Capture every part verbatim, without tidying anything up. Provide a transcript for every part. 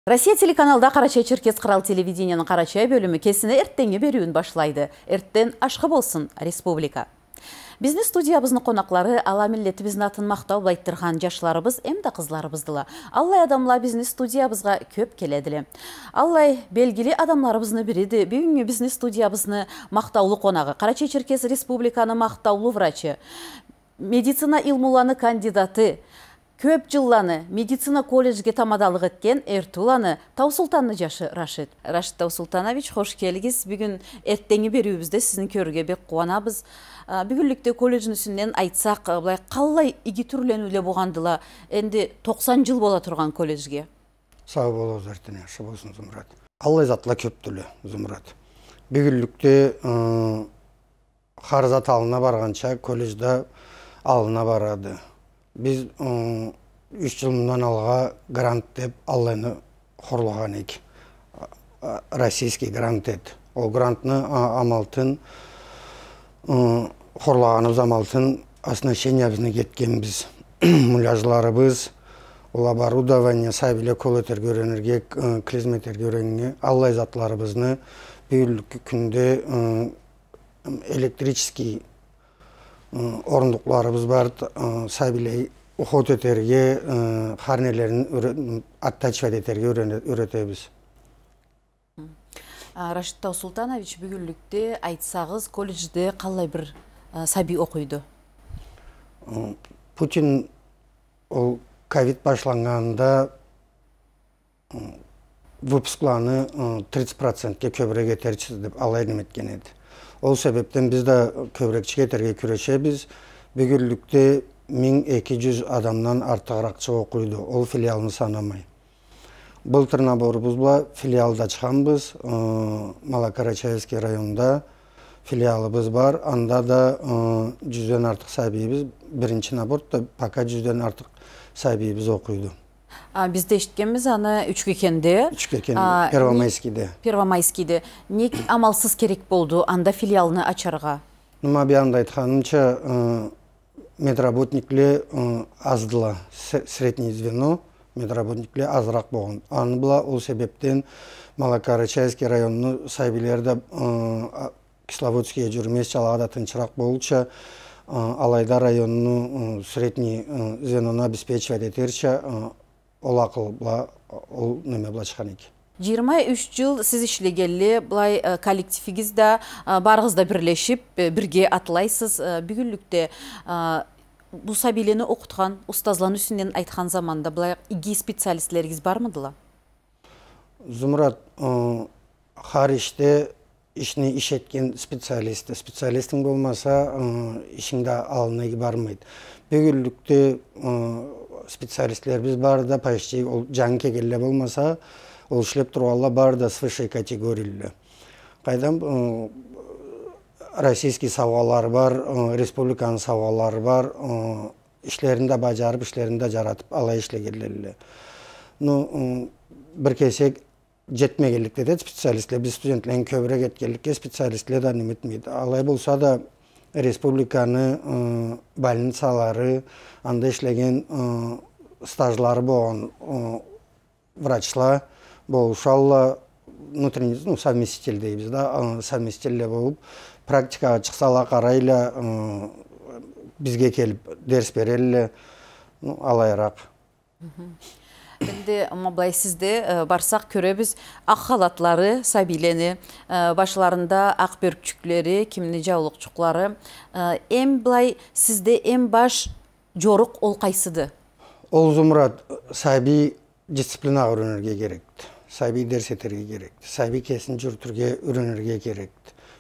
Россия телеканалда Къарачай-Черкес Кърал телевидениени Къарачай бёлюмю кесини эртденги бериуюн башлайды. Эртден ашхы болсун, республика! Бизни студиябызны къонакълары ала миллетибизни атын махтау бла айтдыргъан джашларыбыз эмда къызларыбыздыла. Аллай адамла бизни студиябызгъа кёб келедиле. Аллай белгили адамларыбызны бириди бюгюннгю бизни студиябызны махтаулу къонагъы, Къарачай-Черкес Республиканы махтаулу врачы, медицина илмуланы кандидаты, кёб джылланы медицина колледжге тамадалыкъ этген Эртуланы Таусултанны джашы Рашид. Рашид Таусултанович, хош келигиз. Бюгюн эртденги бериуюбюзде сизни кёрюрге бек къууанабыз. А, бюгюнлюкде колледжни юсюнден айтсакъ, а, былай, къаллай иги тюрлениуле болгъандыла энди токъсан джыл бола тургъан колледжге? Сау бол, Зартина, ашхы болсун, Зумрат. Аллай затла кёбдюле, Зумрат. Бюгюнлюкде, ы, хар зат аллына баргъанча, колледж да аллына барады. Биз, ы, юч джыл мындан алгъа грант деб аллайны хорлагъан эдик. А, а, российский грант эди. Ол грантны, а, амалтын, ы, хорлагъаныбыз амалтын оснащениябызны этгенбиз. Муляжларыбыз, ол оборудование, сабийле кол этерге юренирге, ы, клизма этерге юренирге, аллай затларыбызны бюгюнлюкю кюнде, ы, электрический, ы, орундукъларыбыз бар, ы, сабийле уход этерге, ы, хар нелерин юре-, оттачивать этерге юрене-, юретебиз. А, Рашид Таусултанович, бюгюнлюкде айтсагъыз, колледжде къаллай бир, а, сабий окъуйду? М, Путин ол ковид башланнганында, м, выпускланы, м, тридцать процентге кёбюрек этерчисиз деб алай неме этген эди. Ол себебден биз да кёбюрекчик этерге кюрешебиз. Бюгюнлюкде минг эки джюз адамдан артыгъыракъчыкъ окъуйду, ол филиалны санамай. Былтыр наборубуз бла филиалда ачханбыз, ы, Малокарачаевский районда филиалыбыз бар. Анда да, ы, джюзден артыкъ сабийибиз, биринчи наборда пока джюзден артыкъ сабийибиз окъуйду. А, биз да эшитгенбиз аны Учкекенде. Учкекен, а, Первомайскийде. Первомайскийде. Нек амалсыз керек болду анда филиалны ачаргъа? Ну, ма бир анда айтханымча, ы, медработникле, ы, аздыла, с-, среднее звено, медработникле азыракъ болгъан. Аны бла ол себебден Малокарачаевский районну сабийлери да, ы, а, Кисловодскийге джюрюмезча, алагъа да тынчыракъ болурча, ы, алайда районну, ы, средний, ы, звенону обеспечивать этерча, ы, ол акъыл бла, ол неме бла ачхан эдик. Джыйырма юч джыл сиз ишлегенле, былай, э, коллективигиз да, э, барыгъыз да бирлешиб, э, бирге атлайсыз. Э, бюгюнлюкде, э, бу сабийлени окъутхан устазланы юсюнден айтхан заманда, былай, иги специалистлеригиз бармыдыла? Зумрат, э, хар ишде ишни иш этген специалисти. Специалистинг болмаса, ы, ишинг да аллына бармайды. Бюгюнлюкде, ы, специалистлерибиз бары да почти ол джангы келгенле болмаса, ол ишлеб тургъанла бары да с высшей категорияле. Къайдам, ы, российский саугъалары бар, ы, республиканы саугъалары бар, ы, ишлерин да баджарыб, ишлерин да джаратыб, алай ишлегенле. Ну, ы, бир кесек джетмегенликде да специалистле, биз студентледен кёбюрек этгенликге специалистле да неме этмейди. Алай болса да республиканы, ы, больницалары, анда ишлеген, ы, стажлары болгъан, ы, врачла болушалла, внутренний, ну, совместитель дейбиз да, ы, совместительле болуб, практикагъа чыкъсала къарайла, ы, бизге келиб дерс берелле, ну, алайыракъ. Мгм. Энди, ма былай сизде, э, барсакъ кёребиз, акъ халатлары сабийлени, э, башларында акъ бёркчюклери, кимини джаулукъчукълары. Э, эм былай сизде эм баш джорукъ ол къайсыды? Ол, Зумрат, сабий дисциплинагъа юренирге керекди. Сабий дерс этерге керекди. Сабий кесин джюрютюрге юренирге керекди.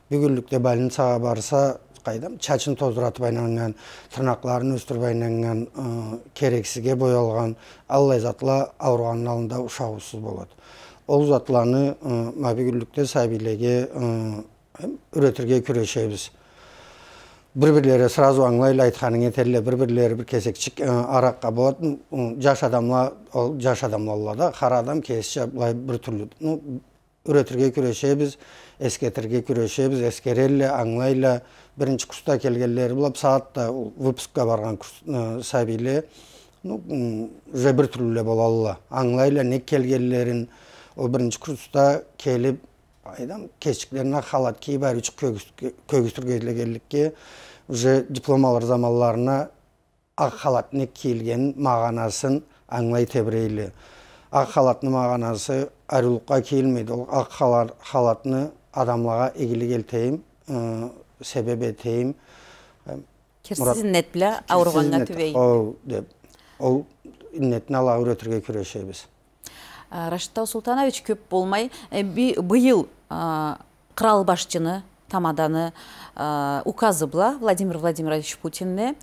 Бюгюнлюкде больницагъа барса, къайдам, чачын тоздуратыб айланнган, тырнакъларын ёсдюрюб айланнган, ы, керексизге боялгъан, аллай затла ауругъанны аллында ушагъыусуз болады. Ол затланы, ы, ма бюгюнлюкде сабийлеге, ы, юретирге кюрешебиз. Бир-бирлери сразу ангылайла, айтханын этелле, бир-бирлери бир кесекчик, ы, аракъгъа болады. Ы, джаш адамла, ол джаш адамла да, хар адам кесича былай бир тюрлю. Ну, юретирге кюрешебиз, эсгертирге кюрешебиз, эсгерелле, ангылайла. Биринчи курсда келгенлери бла бусагъатда выпускга баргъан курс-, ы, сабийле, Ну, м, уже бир тюрлюле болалла. Ангылайла не келгенлерин, ол биринчи курста келип, айдам, кесчиклерине халат кийип, ариучукъ кёгюз-, кёгюз тюргенликге, уже диплом алыр заманларына акъ халат не кийилгенин магъанасын ангылай тебирейле. Акъ халатны магъанасы ариулукъгъа кийилмейди. Ол акъ хала-, халатны адамлагъа игилик этейим, ы, себеп этейим, ы, кирсиз иннет бла ауругъаннга тюбейим деп. Хоу, деп. Ол иннетни алагъа юретирге кюрешебиз. А, Рашид Таусултанович, кёп болмай, э, би-, быйыл, а, кърал башчыны, тамаданы, а, указы бла Владимир Владимирович Путинни,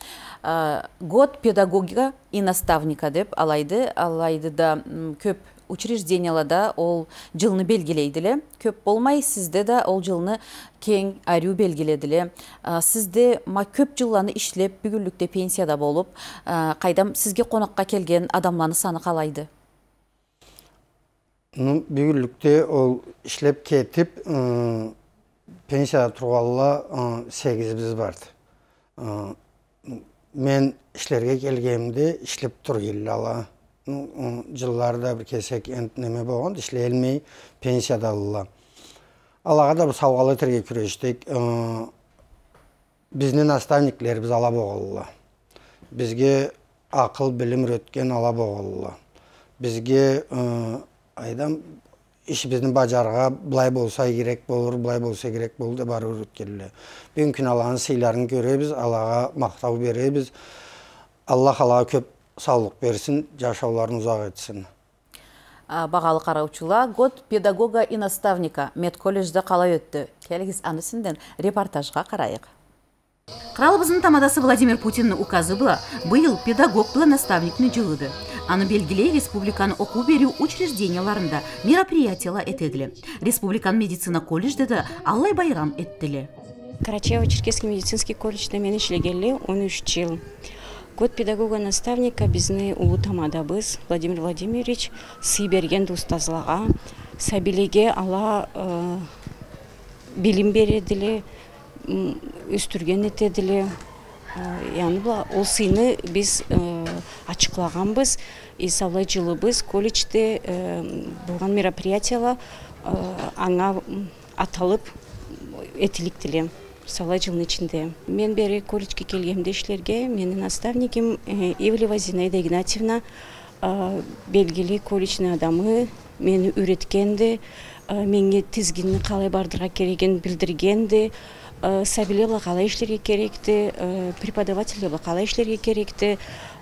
а, «Год педагога и наставника» деп алайды, алайды да, м, кёп учреждениялада ол джылны белгилейдиле. Кёп болмай, сизде да ол джылны кенг, ариу белгиледиле. А, сизде ма кёп джылланы ишлеп, бюгюнлюкде пенсияда болуп, а, къайдам, сизге къонакъгъа келген адамланы саны къалайды? Ну, бюгюнлюкде ол ишлеп кетип, ы, пенсияда тургъанла, ы, сегизибиз барды. Ы, мен ишлерге келгенимде ишлеп тура эдиле ала. Ну, ы, джыллары да бир кесек энтда неме болгъанды, ишлеялмай пенсиядадыла. Алагъа да бир саугъалыкъ этерге кюрешдик. Ы, Бизни наставниклерибиз ала болгъанла. Бизге акъыл, билим юретген ала болгъанла. Бизге, ы, айдам, ишибизни баджарыргъа былай болса игирек болур, былай болса игирек болур деп ары юретгенле. Бюгюн кюн аланы сыйларын кёребиз, алагъа махтау беребиз. Аллах алагъа кёп саулукъ берсин, джашауларын узакъ этсин. А, багъалы къараучула, «Год педагога и наставника» медколледжде къалай ётдю? Келигиз, аны юсюнден репортажгъа къарайыкъ. Къралыбызны тамадасы Владимир Путинни указы бла быйыл педагог бла наставникни джылыды. Аны белгилей республиканы окъуу-бериу учрежденияларында мероприятияла этедиле. Республиканы медицина колледжде да аллай байрам этдиле. Карачаево-Черкесский медицинский колледжде мен ишлегенли он юч джыл. «Год педагога-наставника» бизни уллу тамадабыз Владимир Владимирович сый бергенди устазлагъа. Сабийлеге ала, э, билим бередиле, м, ёсдюрген этедиле. Э, яни бла ол сыйны биз, э, ачыкълагъанбыз. И саулай джылыбыз колледжде, э, болгъан мероприятияла, э, анга, м, аталып этиликдиле саулай джылны ичинде. Мен бери колледжге келгенде ишлерге, мени наставнигим, э, Ивлева Зинаида Игнатьевна, э, белгили колледжни адамы, мени юретгенди, э, меннге тизгинни къалай бардырыргъа керегин билдиргенди, э, сабийле бла къалай ишлерге керекди, э, преподавательле бла къалай ишлерге керекди,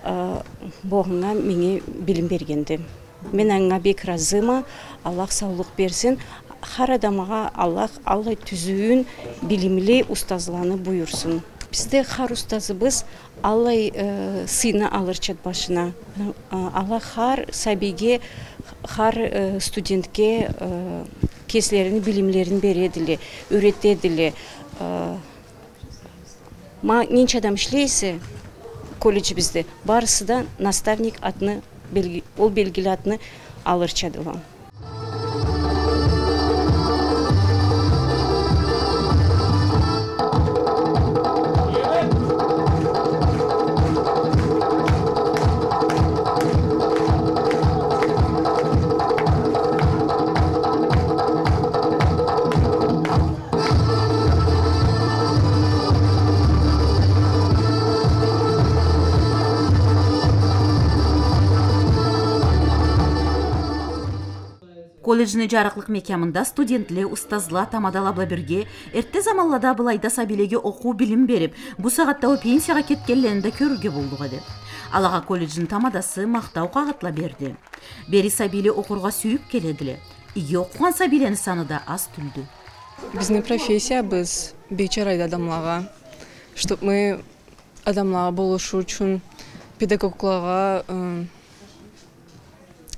э, бу анга меннге билим бергенди. Мен анга бек ыразыма, Аллах саулукъ берсин. Хар адамгъа Аллах аллай тюзюн, билимли устазланы буюрсун. Бизде хар устазыбыз аллай, э, сыйны алырчады башына. Э, Аллах хар сабийге, хар, э, студентге, э, кеслерини билимлерин бередиле, юретедиле. Э, Ма ненча адам ишлей эсе колледжибизде, барысы да наставник атны белги-, ол белгили атны алырчадыла. Колледжни джарыкълыкъ мекямында студентле, устазла, тамадала бла бирге эртте заманлада былайда сабийлеге окъуу, билим берип, бу сагъатда уа пенсиягъа кетгенлени да кёрюрге боллукъ эди. Алагъа колледжни тамадасы махтау къагъытла берди. Бери сабийле окъургъа сюйюп келедиле. Иги окъугъан сабийлени саны да аз тюлдю. Бизни профессиябыз бек джарайды адамлагъа. Чтоб мы адамлагъа болушур ючюн, педагоглагъа, ы,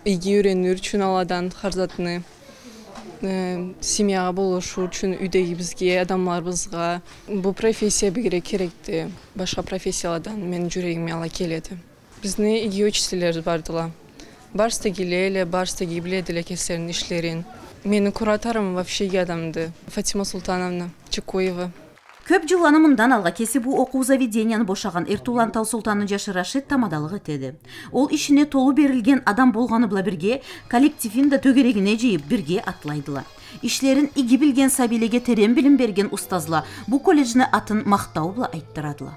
иги юренир ючюн аладан хар затны, ы, семьягъа болушур ючюн, юйдегибизге, адамларыбызгъа. Бу профессия бигерек керекди башха профессияладан, мени джюрегиме ала келеди. Бизни иги учительлерибиз бардыла. Барысы да игиле эдиле, барысы да иги биледиле кеслерини ишлерин. Мени кураторум вообще иги адамды, Фатима Султановна Чекуева. Кёп джылланы мындан алгъа кеси бу окъуу заведенияны бошагъан Эртулан Таусултанны джашы Рашид тамадалыкъ этеди. Ол ишине толу берилген адам болгъаны бла бирге, коллективин да тёгерегине джыйып, бирге атлайдыла. Ишлерин иги билген сабийлеге терен билим берген устазла бу колледжни атын махтау бла айтдырадыла.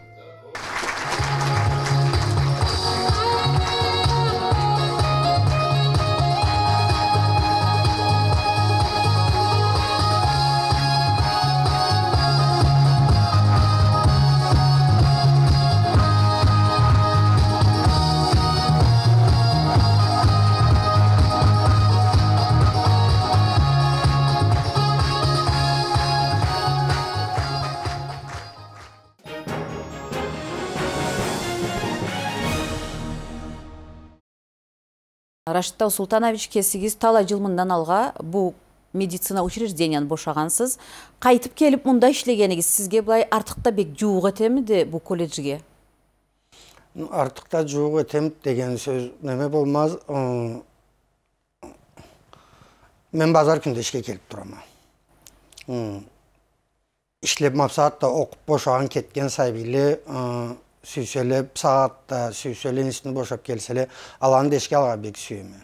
Рашид Таусултанович, кесигиз талай джыл мындан алгъа бу медицина учрежденияны бошагъансыз. Къайтып келип мында ишлегенигиз сизге былай артыкъ да бек джууукъ этемиди бу колледжге? Артыкъ да джууукъ этемиди деген сёз неме болмаз. Ы, мен базар кюнде ишге келип турама. Ы, ишлеп, ма бусагъатда окъуп бошагъан, кетген сабийле, ы, сюйселе, бусагъатда сюйселе, институтну бошап келселе, аланы да эшге алыргъа бек сюеме.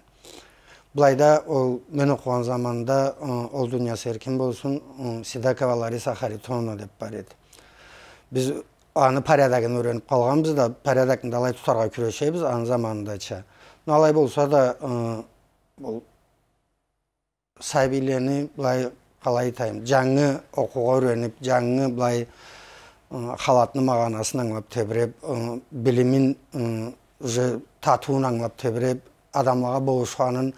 Былайда ол, мен окъугъан заманда, ы, ол дуниясы эркин болсун, ы, Сидакова Лариса Харитоновна деп бар эди. Биз аны порядогун юренип къалгъанбыз да, порядокну да алай тутаргъа кюрешебиз, аны заманындача. Но алай болса да, ы, ол сабийлени, былай, къалай айтайым, джангы окъуугъа юренип, джангы, былай, ы, халатны магъанасын ангылап тебиреп, ы, билимин, ы, уже татыуун ангылап тебиреп, адамлагъа болушханын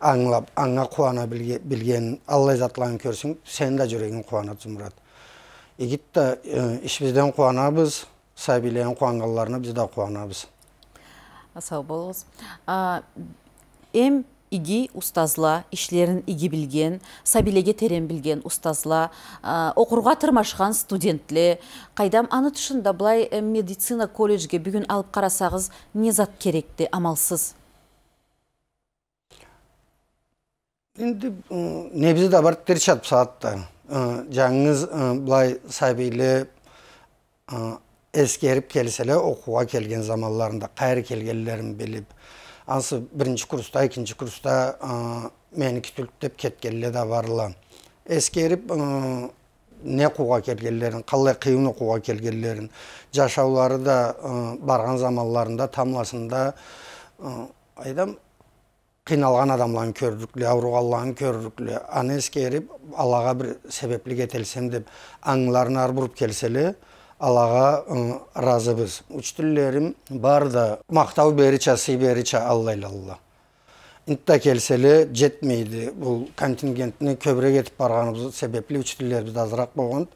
ангылап, анга къууана билге-, билген, аллай затланы кёрсенг, сени да джюрегинг къууанады, Зумрат. Игит да, ы, ишибизден къууанабыз. Сабийлени къууаннганларына биз да къууанабыз. Сау болугъуз. А, эм иги устазла, ишлерин иги билген, сабийлеге терен билген устазла, а, окъургъа тырмашхан студентле, къайдам, аны тышында былай, э, медицина колледжге бюгюн алып къарасагъыз, не зат керекди, амалсыз? Энди, ы, небиз да бар тирчат бусагъатда. Ы, джангыз, ы, былай сабийле, ы, эсгерип келселе, окъуугъа келген заманларында, къайры келгенлерин билип, ансы биринчи курсда, экинчи курсда, ы, меники тюлдю деп кетгенле да барла. Эсгерип, ы, не окъуугъа келгенлерин, къаллай къыйын окъуугъа келгенлерин, джашаулары да, ы, баргъан заманларында, тамбласында, ы, къайдам, къыйналгъан адамланы кёрлюкле, ауругъанланы кёрлюкле, аны эсгерип, алагъа бир себеплик этелсем деп, ангыларын ары буруп келселе, алагъа, ы, ыразыбыз. Учителлерим бары да махтау берирча, сый берирча аллайла. Энтда келселе, джетмейди. Бу контингентни кёбюрек этип баргъаныбыз себепли учителлерибиз да азыракъ болгъан.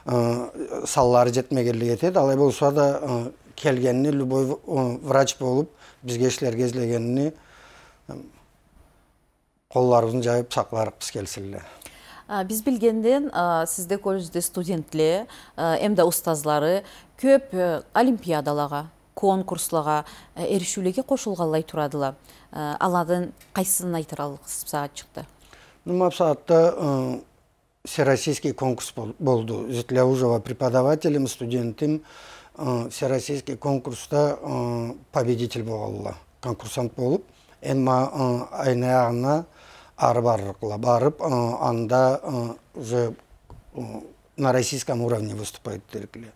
Ы, санлары джетмегенлик этеди. Алай болса да, ы, келгенни любой в-, ы, врач болуп, бизге ишлерге излегенни, ы, къолларыбызны джайып сакъларыкъбыз келсинле. А, биз билгенден, а, сизде колледжде студентле, а, эм да устазлары кёп, э, олимпиадалагъа, конкурслагъа, э, эришиулеге къошулгъанлай турадыла. Э, аладан къайсысын айтыраллыкъсыз бусагъатчыкъда? Ну, ма бусагъатда, ы, всероссийский конкурс бол-, болду. Зитляужева преподавателим, студентим, э, всероссийский конкурсда, э, победитель болгъанла, конкурсант болуп, эм ма, э, айны аягъына ары барлыкъла. Барып, э, анда, э, уже, э, на российском уровне выступать этерикле.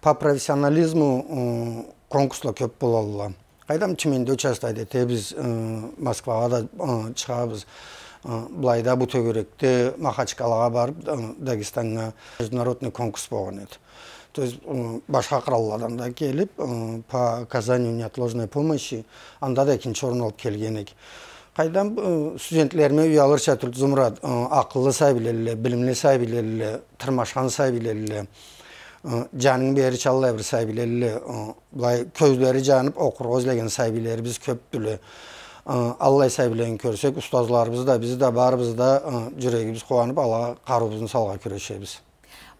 По профессионализму, э, конкурсла кёп болалла. Къайдам, Тюменде участвовать этебиз, э, Москвагъа да, э, чыгъабыз. Э, былайда бу тёгерекде Махачкалагъа барып, э, Дагестаннга международный конкурс болгъан эди. То есть, э, башха къыралладан да келип, э, по оказанию неотложной помощи, анда да экинчи орун алып келген эдик. Къайдам, э, студентлериме уялырча тюлдю, Зумрат, э, акъыллы сабийлелле, билимли сабийлелле, тырмашхан сабийлелле, э, джанын берирча аллай бир сабийлелле, э, былай кёзлери джанып, окъургъа излеген сабийлерибиз кёпдюле. Э, аллай сабийлени кёрсек, устазларыбыз да, биз да, барыбыз да, э, джюрегибиз къууанып, алагъа къарыуубузну салыргъа кюрешебиз.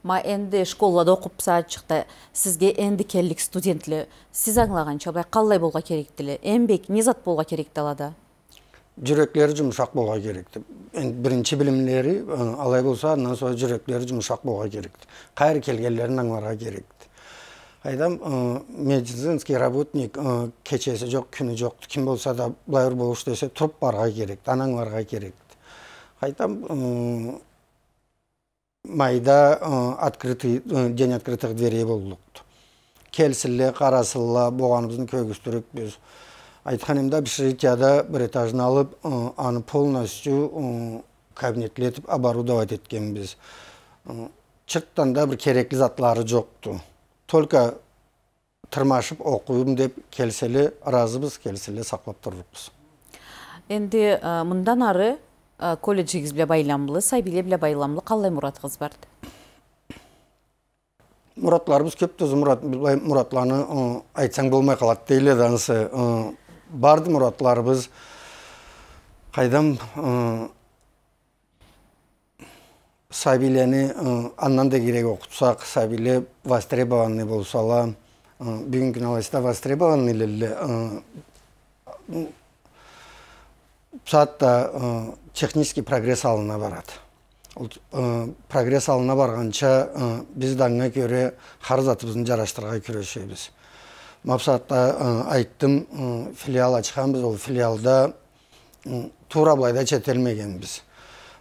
Ма энди школлада окъуп бусагъатчыкъда, сизге энди келлик студентле, сиз ангылагъанча, былай къаллай болургъа керекдиле? Эм бек не зат болургъа керекди алада? Джюреклери джумушакъ болургъа керекди. Энди биринчи билимлери, э, алай болса, андан сора джюреклери джумушакъ болургъа керекди. Къайры келгенлерин ангыларгъа керекди. Къайдам, э, медицинский работник, э, кечеси джокъ, кюню джокъду. Ким болса да, былай бир болуш десе, туруб барыргъа керекди, аны ангыларгъа керекди. Къайдам, э, майда, э, открытый, э, день открытых дверей боллукъду. Келсинле, къарасынла, болгъаныбызны кёргюзтюрюкбюз. Айтхан эдим да, общежитияда бир этажны алыб, э, аны полностью, э, кабинетле этиб оборудовать этгенбиз. Э, чыртдан да бир керекли затлары джокъду. Только тырмашыб окъуйма деб келселе, ыразыбыз, келселе, сакълаб турлукъбуз. Энди, э, мындан ары, э, колледжигиз бла байламлы, сабийле бла байламлы къаллай муратыгъыз барды? Муратларыбыз кёбдю, мурат-, былай муратланы, э, айтсанг болмай къалады дейле да ансы. Э, барды муратларыбыз. Къайдам, э, сабийлени, э, андан да игирек окъутсакъ, сабийле востребованный болсала, э, бюгюннгю кюн алайса да востребованныйлелле, э, бусагъатда, э, технический прогресс аллына барады. Ол, э, прогресс аллына баргъанча, э, биз да анга кёре хар затыбызны джарашдырыргъа кюрешебиз. Ма бусагъатда, э, айтдым, э, филиал ачханбыз, ол филиалда М, туура былайда четелмегенбиз.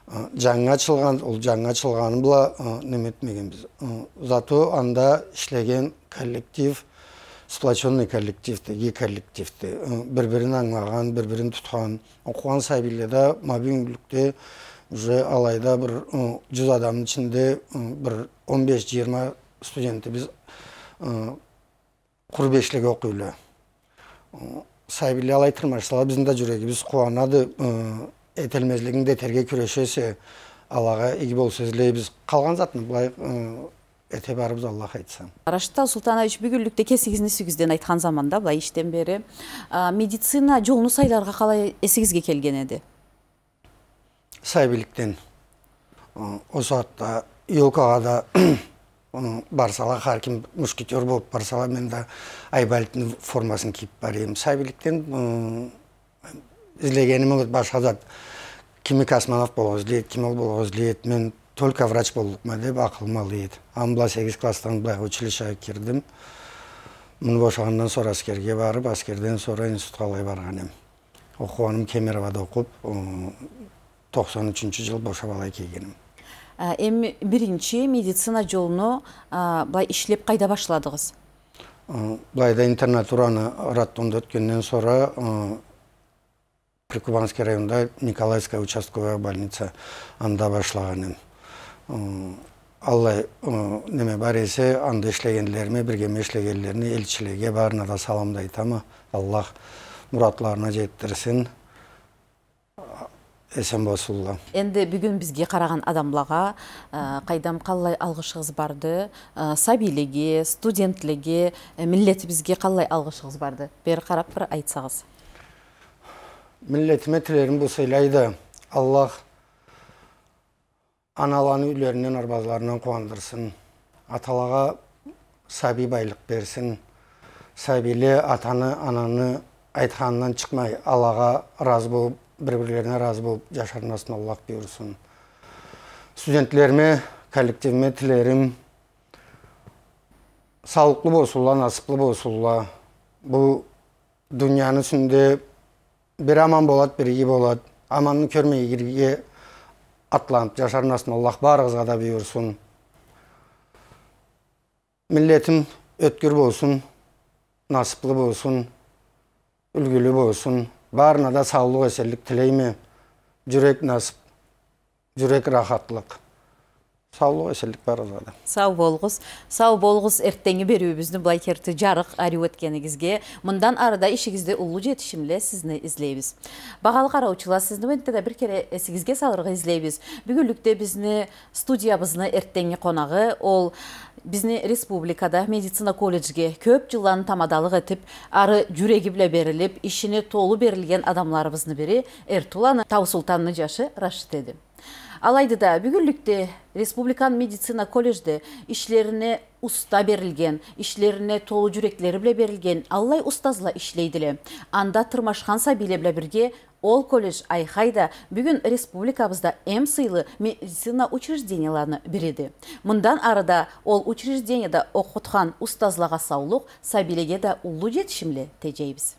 Э, джангы ачылгъан, ол джангы ачылгъаны бла, э, неме этмегенбиз. Э, зато анда ишлеген коллектив, сплочённый коллективди, иги коллективди. Э, бир-бирин ангылагъан, бир-бирин тутхан, окъугъан сабийле да, ма бюгюнлюкде уже алайда бир, э, джюз адамны ичинде, э, бир он беш, джыйырма студентибиз, э, къуру бешлеге окъуйла. Сабийле алай тырмашсала, бизни да джюрегибиз къууанады, э, этелмезлигин да этерге кюрешесе, алагъа иги болса излейбиз. Къалгъан затны былай, э, эте барырбыз, Аллах айтса. Рашид Таусултанович, бюгюнлюкде кесигизни юсюгюзден айтхан заманда, былай ишден бери, а, медицина джолну сайларгъа къалай эсигизге келген эди? Сабийликден. Э, ол сагъатда ёлкагъа да, э, барсала, хар ким мушкетёр болуб барсала, мен да Айболитни формасын кийиб бара эдим. Сабийликден, э, излегеним ол эди, башха зат. Кими космонавт болургъа излей эди, кими ол болургъа излей эди. Мен только врач боллукъма деб акъылым алай эди. Аны бла сегиз классдан былайгъа училищеге кирдим. Муну бошагъандан сора аскерге барыб, аскерден сора институтха алай баргъан эдим. Окъугъаным Кемеровода окъуб, ы, тохсан ючюнчю джыл бошаб алай келгеним. А, эм биринчи медицина джолну, а, былай ишлеб къайда башладыгъыз? Ы, былайда интернатураны, роддомда ётгенден сора, ы, Прикубанский районда Николаевская участковая больница, анда башлагъан эдим. Ы, аллай, ы, неме бар эсе, анда ишлегенлериме, биргеме ишлегенлерине, элчилеге, барына да салам да айтама. Аллах муратларына джетдирсин. Эсен болсунла. Энди бюгюн бизге къарагъан адамлагъа, э, къайдам, къаллай алгъышыгъыз барды, э, сабийлеге, студентлеге, э, миллетибизге къаллай алгъышыгъыз барды? Бери къараб бир айтсагъыз. Миллетиме тилерим бу сыйлайды. Аллах аналаны юйлеринден, арбазларындан къууандырсын. Аталагъа сабий байлыкъ берсин. Сабийле атаны, ананы айтханындан чыкъмай, алагъа разы болуб, бир-бирлерине разы болуб джашар насыбны Аллах буюрсун. Студентлериме, коллективиме тилерим саулукълу болсунла, насыблы болсунла. Бу дунияны юсюнде бир аман болад, бир иги болад. Аманны кёрмей, игиге атланыб джашар насыбны Аллах барыгъызгъа да буюрсун. Миллетим ётгюр болсун, насыблы болсун, юлгюлю болсун. Барына да саулукъ, эсенлик тилейме. Джюрек насыб, джюрек рахатлыкъ. Саулукъ, эсенлик барыгъызгъа да. Сау болугъуз. Сау болугъуз, эртденги бериуюбюзню былай керти джарыкъ, ариу этгенигизге. Мындан ары да ишигизде уллу джетишимле сизни излейбиз. Багъалы къараучула, сизни энтта да бир кере эсигизге салыргъа излейбиз. Бюгюнлюкде бизни студиябызны эртденги къонагъы, ол бизни республикада медицина колледжге кёб джылланы тамадалыкъ этиб, ары джюреги бла берилиб, ишине толу берилген адамларыбызны бири, Эртуланы Таусултанны джашы Рашид эди. Алайды да, бюгюнлюкде республикан медицина колледжде ишлерине уста берилген, ишлерине толу джюреклери бла берилген аллай устазла ишлейдиле. Анда тырмашхан сабийле бла бирге ол колледж, айхай да, бюгюн республикабызда эм сыйлы медицина учрежденияларыны бириди. Мындан ары да ол учрежденияда окъутхан устазлагъа саулукъ, сабийлеге да уллу джетишимле теджейбиз.